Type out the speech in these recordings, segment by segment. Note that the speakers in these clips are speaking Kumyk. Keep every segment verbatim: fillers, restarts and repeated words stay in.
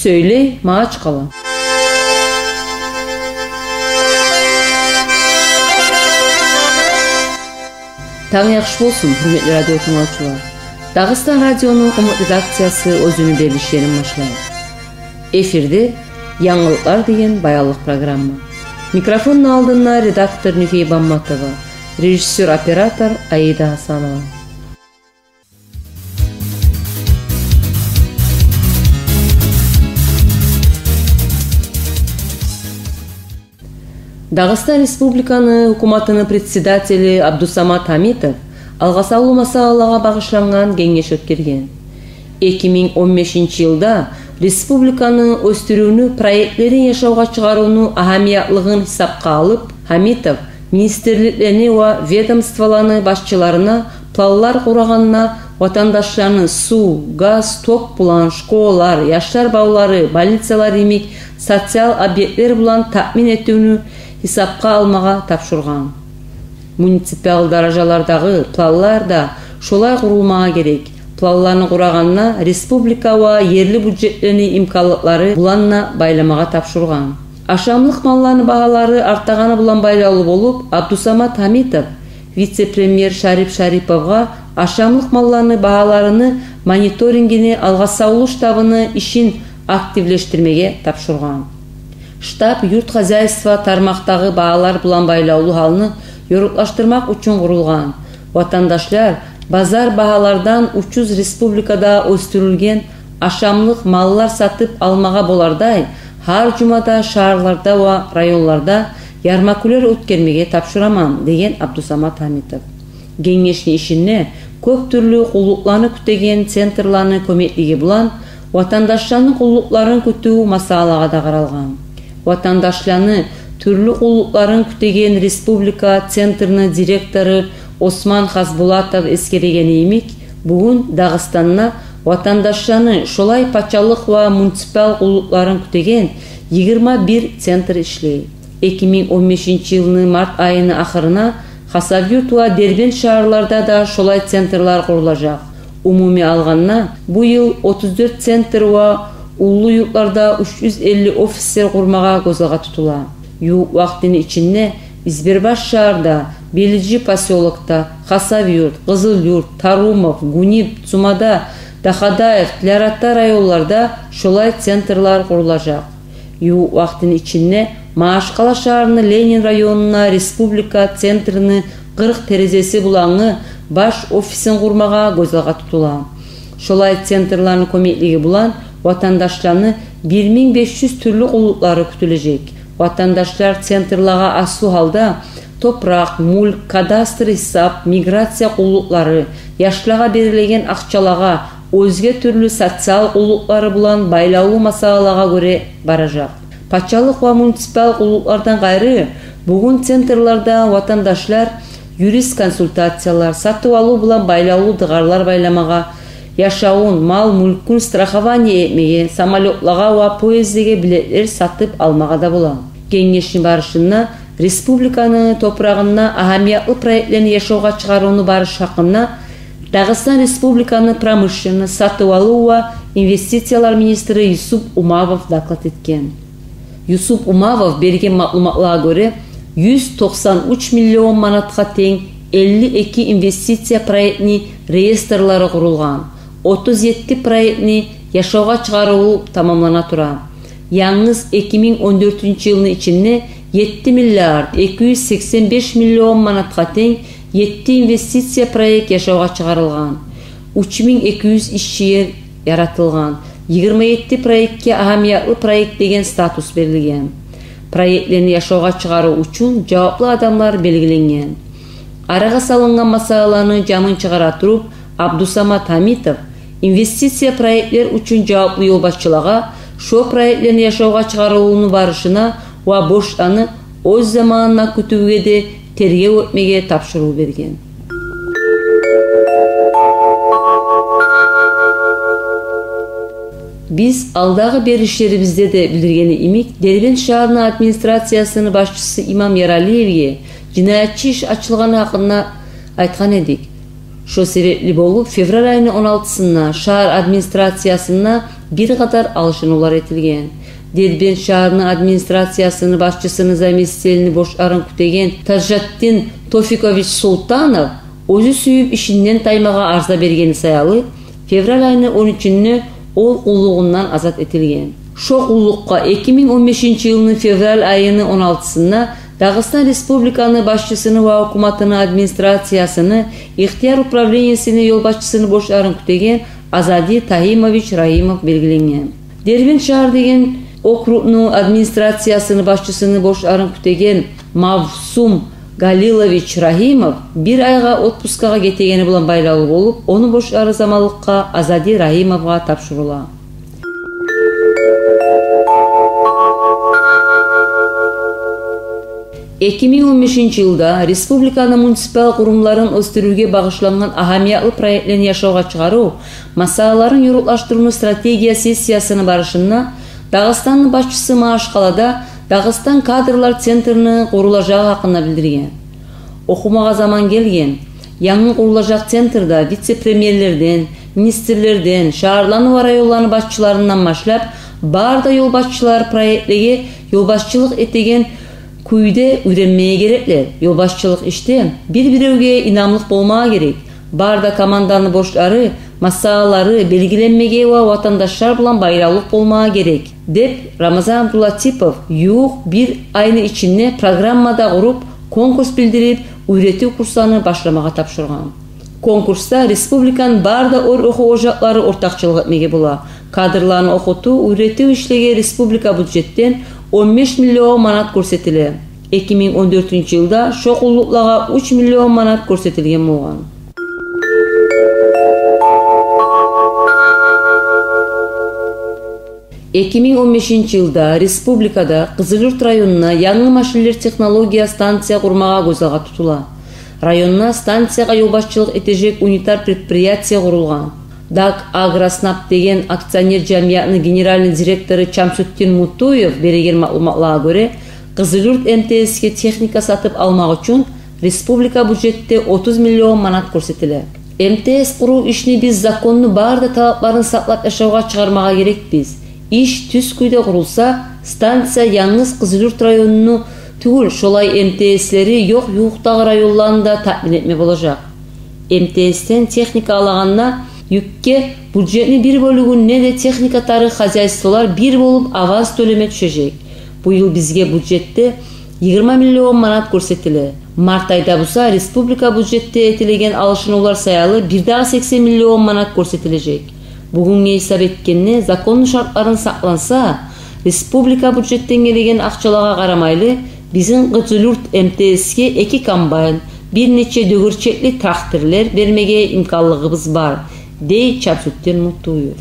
Сёйлей Магьачкъала. Танг яхшы болсун, гьюрметли радио тынглавчулар. Дагъыстан радиону къумукъ редакциясы оьзюню берилишин башлай. Эфирде «Янгылыкълар» деген баянлыкъ программа. Микрофонну алдында редактор Нюфей Бамматова, режиссёр-оператор Аида Гьасанова. Дагъыстан Республиканы гьукуматыны председатели Абдусамат Гьамитов алгъасавлу масъалагъа багъышлангъан генгеш оьтгерген. Эки минг он бешинчи йылда республиканы оьсдюрювню проектлерин яшавгъа чыгъарывну агьамиятлыгъын гьисапгъа алып, Гьамитов министрликлени ва ведомстволаны башчыларына планлар къурагъанына ватандашланы сув, газ, ток булан, школалар, яшлар бавлары, больницалар йимик социал объектлер булан таъмин этивню гьисапгъа алмагъа тапшургъан. Муниципал даражалардагъы планлар да шолай къурулмагъа герек. Планланы къурагъанына республика ва ерли бюджетлени имканлыкълары булан да байламагъа тапшургъан. Ашамлыкъ малланы багьалары артагъаны булан байлавлу болуп, Абдусамат Гьамитов вице-премьер Шарип Шариповгъа ашамлыкъ малланы багьаларыны мониторингини алгъасавлу штабыны ишин активлешдирмеге тапшургъан. Штаб юрт хозяйство тармакъдагъы багьалар булан байлавлу гьалны ёрукълашдырмакъ учун къурулгъан. Ватандашлар базар багьалардан учуз республикада оьсдюрюлген ашамлыкъ маллар сатып алмагъа болардай, гьар жумада шагьарларда ва районларда ярмакулер оьтгермеге тапшураман, деген Абдусамат Гьамитов. Генгешни ишинде кёп тюрлю къуллукъланы кютеген центрланы кёмеклиги булан ватандашланы къуллукъларын кютюв масъалагъа да къаралгъан. Ватандашланы тюрлю къуллукъларын кютеген республика центрни директору Осман Хасбулатов эсгерегени йимик, бугюн Дагъыстанда ватандашланы шолай пачалыкъ ва муниципал къуллукъларын кютеген йигирма бир центр ишлей. Эки минг он бешинчи йылны март айыны ахырына Хасавюрт ва Дербент шагьарларда да шолай центрлар къурулажакъ. Умумий алгъанда, бу йыл отуз дёрт центр ва уллу юртларда уьч юз элли офислер къурмагъа гёз алгъа тутула. Ювукъ вакътини ичинде Избербаш шагьарда, Белижи посёлокда, Хасавюрт, Къызылюрт, Тарумов, Гуниб, Цумада, Дахадаев, Тилярата районларда шолай центрлар къурулажакъ. Ювукъ вакътини ичинде Магьачкъала шагьарны Ленин районуна республика центрни къыркъ терезеси булангъы баш офисин къурмагъа гёз алгъа тутула. Шолай центрланы кёмеклиги булан ватандашланы бир минг беш юз тюрлю къуллукълары кютюлежек. Ватандашлар центрларгъа аслу гьалда топуракъ, мюлк, кадастр гьисап, миграция къуллукълары, яшлагъа берилеген акъчалагъа, оьзге тюрлю социал къуллукълары булан байлавлу масъалагъа гёре баражакъ. Пачалыкъ ва муниципал къуллукълардан къайры, бугюн центрларда ватандашлар юридический консультациялар, сатыв-алыв булан байлавлу дыгъарлар байламагъа, яшавун, мал-мюлкюн страхование этмеге, самолётлагъа ва поездлеге билетлер сатып алмагъа да бола. Генгешни барышында республиканы топурагъында агьамиятлы проектлени яшавгъа чыгъарывну барышы гьакъында Дагъыстан Республиканы промышленность, сатыв-алыв ва инвестициялар министри Юсуп Умавов доклад этген. Юсуп Умавов берген маълуматлагъа гёре, юз токъсан уьч миллион манатгъа тенг элли эки инвестиция проектни реестрлери къурулгъан, отуз етти проектни яшавгъа чыгъарыву тамамлана тура. Янгыз эки минг он дёртюнчю йылны ичинде етти миллиард эки юз сексен беш миллион манатгъа тенг етти инвестиция проект яшавгъа чыгъарылгъан, уьч минг эки юз иш ер яратылгъан, йигирма етти проектге агьамиятлы проект деген статус берилген. Проектлени яшавгъа чыгъарыв учун жаваплы адамлар белгиленген. Арагъа салынгъан масъалаланы жамын чыгъара туруп, Абдусамат Гьамитов инвестиция проектлер учун жаваплы ёлбашчылагъа шо проектлени яшавгъа чыгъарылывну барышына ва борчланы оьз заманына кютювге де тергев этмеге тапшурув берген. Биз алдагъы берилишлерибизде де билдиргени йимик, Дербент шагьарны администрациясыны башчысы Имам Яралиевге жинаятчы иш ачылгъаны гьакъында айтгъан эдик. Шо себепли болуп, февраль айны он алтысында шагьар администрациясында бир къатар алышынывлар этилген. Дербент шагьарны администрациясыны башчысыны заместителини борчларын кютеген Тажатдин Тофикович Султанов оьзю сююп ишинден таймагъа арза бергени саялы, февраль айны он уьчюнде ол къуллугъундан азат этилген. Шо къуллукъгъа эки минг он бешинчи йылны февраль айыны он алтысында Дагъыстан Республиканы башчысыны ва гьукуматыны администрациясыны ихтияр управлениесини ёлбашчысыны борчларын кютеген Азади Тагьимович Рагьимов белгиленген. Дербент шагьар деген округну администрациясыны башчысыны борчларын кютеген Мавсум Галилович Рагьимов бир айгъа отпускагъа гетегени булан байлавлу болуп, ону борчлары заманлыкъгъа Азади Рагьимовгъа тапшурула. Эки минг он бешинчи йылда республиканы муниципал къурумларын оьсдюрювге багъышлангъан агьамиятлы проектлени яшавгъа чыгъарыв масъалаларын ёрукълашдырывну стратегия сессиясыны барышында Дагъыстанны башчысы Магьачкъалада Дагъыстан кадрлар центрини къурулажагъы гьакъында билдирген. Охумагъа заман гелген, янгы къурулажакъ центрде вице-премьерлерден, министрлерден, шагьарланы ва районланы башчыларындан башлап, бары да ёлбашчылар проектлеге ёлбашчылыкъ этеген кюйде уьйренмеге гереклер. Ёлбашчылыкъ ишде бир-биревге инамлыкъ болмагъа герек. Бары да команданы борчлары, масъалалары белгиленмеге ва ватандашлар булан байлавлукъ болмагъа герек, деп Рамазан Абдулатипов ювукъ бир айны ичинде программа да къуруп, конкурс билдирип, уьйретив курсланы башламагъа тапшургъан. Конкурсда республиканы бары да орта охув ожакълары ортакъчылыкъ этмеге бола. Кадрланы охутув, уьйретив ишлеге республика бюджетден он беш миллион манат гёрсетиле. Эки минг он дёртюнчю йылда шо къуллукълагъа уьч миллион манат гёрсетилген болгъан. Эки минг он бешинчи йылда республикада Къызылюрт районуна янгы машинлер технология станция къурмагъа гёз алгъа тутула. Районуна станциягъа ёлбашчылыкъ этежек унитар предприятие къурулгъан. «Дагагроснаб» деген акционер жамиятны генеральный директору Чамсутдин Мутуев береген маълуматлагъа гёре, Къызылюрт М Т С-ге техника сатып алмакъ учун республика бюджетде отуз миллион манат гёрсетиле. М Т С къурув ишни биз законну бары да талапларын сакълап яшавгъа чыгъармагъа герекбиз. Иш тюз кюйде къурулса, станция янгыз Къызылюрт районуну тюгюл, шолай М Т С-лери ёкъ ювукъдагъы районланы да таъмин этме болажакъ. М Т С-ден техника алагъанда юкге бюджетни бир бёлюгюн не де техника тарыкъ хозяйстволар бир болуп аванс тёлеме тюшежек. Бу йыл бизге бюджетде йигирма миллион манат гёрсетиле. Март айда буса республика бюджетде этилеген алышынывлар саялы бирдагъы сексен миллион манат гёрсетилежек. Бугюнге гьисап этгенде, законну шартларын сакъланса, республика бюджетден гелеген акъчалагъа къарамайлы, бизин Къызылюрт М Т С-ге эки комбайн, бир нече дёгерчекли трактерлер бермеге имканлыгъыбыз бар, дей Чамсутдин Мутуев.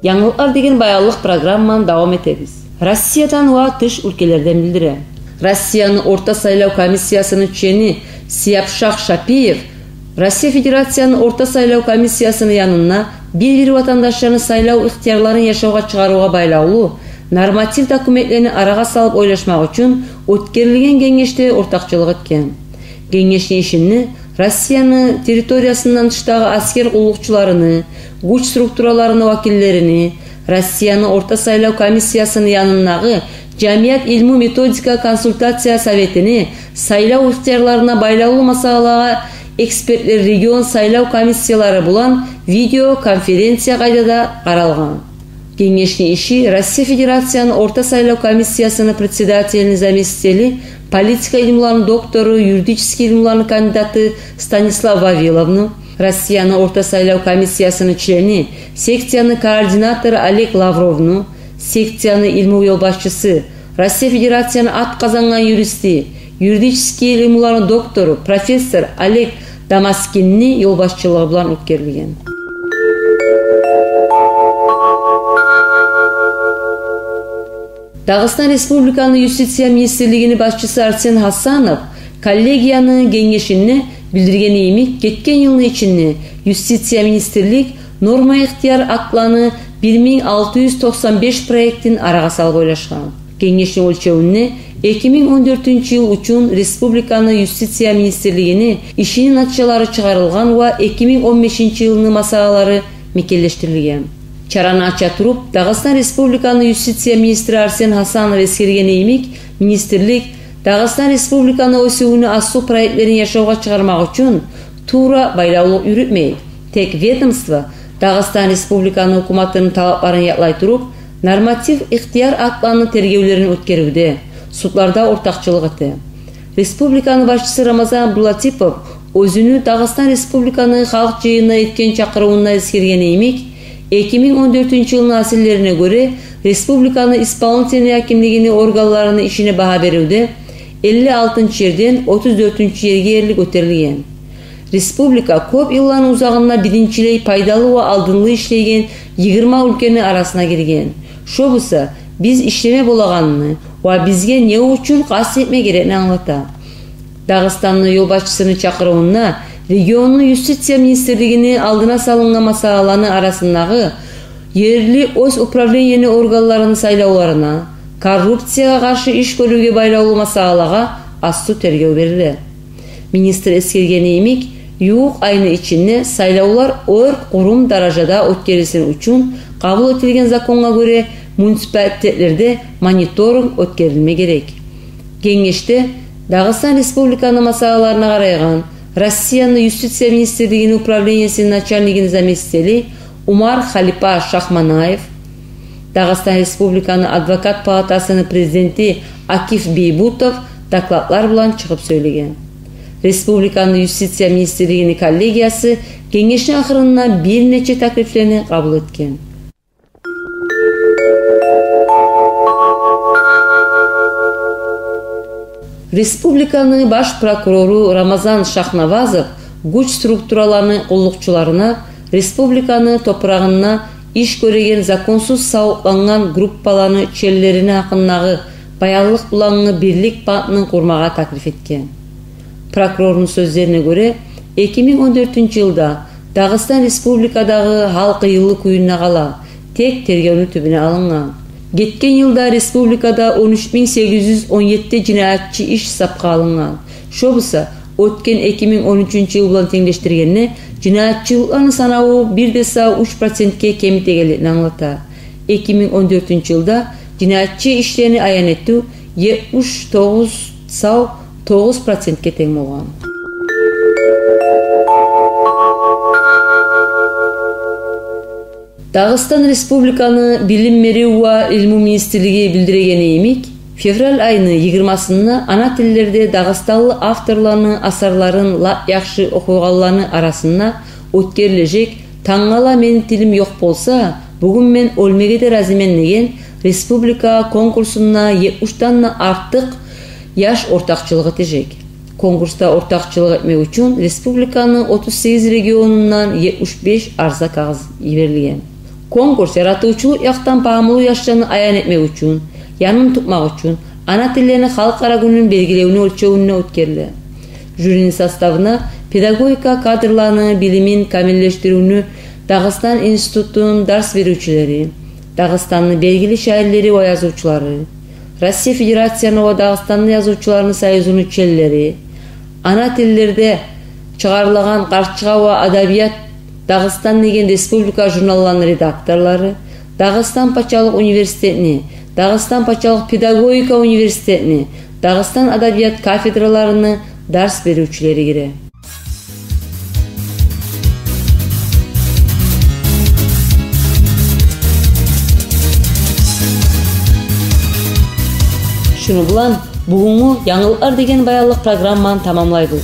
Янгылыкълар деген баянлыкъ программаны давам этебиз. Россиядан ва тыш уьлкелерден билдире. Россияны орта сайлав комиссиясыны члени Сияпшах Шапиев Россия Федерацияны орта сайлав комиссиясыны янында бир-бир ватандашланы сайлав ихтиярларын яшавгъа чыгъарывгъа байлавлу норматив документлени арагъа салып ойлашмакъ учун оьтгерилген генгешде ортакъчылыкъ этген. Генгешни ишинде Россияны территориясындан тышдагъы аскер къуллукъчуларыны, гюч структураларыны вакиллерини, Россияны орта сайлав комиссиясыны янындагъы жамият илму-методика консультация советини, сайлав ихтиярларына байлавлу масъалагъа экспертлер регион сайлав комиссиялары булан видеоконференция къайдада къаралгъан. Генгешни иши Россия Федерацияны орта сайлав комиссиясыны председателини заместители, политика илмуларыны доктору, юридический илмуларыны кандидаты Станислав Вавиловну, Россияны орта сайлав комиссиясыны члени, секцияны координатору Олег Лавровну, секцияны илму ёлбашчысы, Россия Федерацияны ат къазангъан юристи, юридический илмуларыны доктору, профессор Олег Дамаскинни ёлбашчылыгъы булан оьтгерилген. Дагъыстан Республиканы юстиция министрлигини башчысы Арсен Гьасанов коллегияны генгешинде билдиргени йимик, гетген йылны ичинде юстиция министрлик норма ихтияр актланы бир минг алты юз токъсан беш проектин арагъа салып ойлашгъан. Генгешни оьлчевюнде Эки минг он дёртюнчю йыл учун республиканы юстиция министрлигини ишини натижалары чыгъарылгъан ва эки минг он бешинчи йылны масъалалары мекенлешдирилген. Чараны ача туруп, Дагъыстан Республиканы юстиция министри Арсен Гьасанов эсгерген йимик, министрлик Дагъыстан Республиканы оьсювюню аслу проектлерин яшавгъа чыгъармакъ учун тувра байлавлукъ юрютмей. Тек ведомство Дагъыстан Республиканы гьукуматыны талапларын якълай туруп, норматив ихтияр актланы тергевлерин оьтгеривде, судларда ортакъчылыкъ эте. Республиканы башчысы Рамазан Абдулатипов оьзюню Дагъыстан Республиканы Халкъ Жыйынына этген чакъырывунда эсгерген йимик, эки минг он дёртюнчю йылны асиллерине гёре, республиканы исполнительный гьакимлигини органларыны ишине багьа беривде элли алтынчы ерден отуз дёртюнчю ерге ерли гётерилген. Республика кёп йылланы узагъында биринчилей пайдалы ва алдынлы ишлейген йигирма уьлкени арасына гирген. Шо буса, биз ишлеме болагъанны ва бизге не учун къаст этме герекни англата. Дагъыстанны ёлбашчысыны чакъырывунда регионну юстиция министрлигини алдына салынгъан масъалаланы арасындагъы ерли оьз управлениени органларыны сайлавларына, коррупциягъа къаршы иш гёрювге байлавлу масъалалагъа аслу тергев бериле. Министр эсгерген йимик, ювукъ айны ичинде сайлавлар оьр къурум даражада оьтгерилсин учун къабул этилген законгъа гёре муниципалитетлерде мониторинг оьтгерилме герек. Генгешде Дагъыстан Республиканы масъалаларына къарайгъан Россияны юстиция министрлигини управлениесини начальнигини заместители Умар Халипа Шахманаев, Дагъыстан Республиканы Адвокат палатасыны президенти Акиф Бийбутов докладлар булан чыгъып сёйлеген. Республиканы юстиция министрлигини коллегиясы генгешни ахырында бир нече таклифлени къабул этген. Республиканы баш прокурору Рамазан Шахнавазов гюч структураланы къуллукъчуларына республиканы топурагъында иш гёреген законсуз савукълангъан группаланы членлерини гьакъындагъы баянлыкъ булангъы бирлик бантны къурмагъа таклиф этген. Прокурорну сёзлерине гёре, эки минг он дёртюнчю йылда Дагъыстан Республикадагъы гьал къыйынлы кююнде къала, тек тергевню тюбюне алынгъан. Гетген йылда республикада он уьч минг сегиз юз он етти жинаятчы иш сапгъа алынгъан. Шо буса, оьтген эки минг он уьчюнчю йыл булан тенглешдиргенде, жинаятчылыкъланы санаву бир де сав уьч процентге кемитегенликни англата. Эки минг он дёртюнчю йылда жинаятчы ишлени аян этив етмиш тогъуз сав тогъуз процентге тенг болгъан. Дагъыстан Республиканы Билим берив ва илму министрлиги билдирегени йимик, февраль айны йигирмасында ана тиллерде дагъыстанлы авторланы асарларын лап яхшы охуйгъанланы арасында оьтгерилежек «Тангала мени тилим ёкъ болса, бугюн мен оьлмеге де разимен» деген республика конкурсунда етмишден де артыкъ яш ортакъчылыкъ этежек. Конкурсда ортакъчылыкъ этмек учун республиканы отуз сегиз регионундан етмиш беш арза кагъыз йиберилген. Конкурс яратывчулукъ якъдан пагьмулу яшланы аян этмек учун, янын тутмакъ учун, ана тиллени халкъара гюнюн белгилевню оьлчевюнде оьтгериле. Жюрини составына педагогика кадрланы билимин камиллешдиривню Дагъыстан институтуну дарс беривчюлери, Дагъыстанны белгили шаирлери ва язывчулары, Россия Федерацияны ва Дагъыстанны язывчуларыны союзуну членлери, ана тиллерде чыгъарылагъан «Къарчыгъа» ва «Адабият Дагъыстан» деген республика журналланы редакторлары, Дагъыстан пачалыкъ университетини, Дагъыстан пачалыкъ педагогика университетини, Дагъыстан адабият кафедраларыны дарс беривчюлери гире. Шуну булан бугюнгю «Янгылыкълар» деген баянлыкъ программаны тамамлайбыз.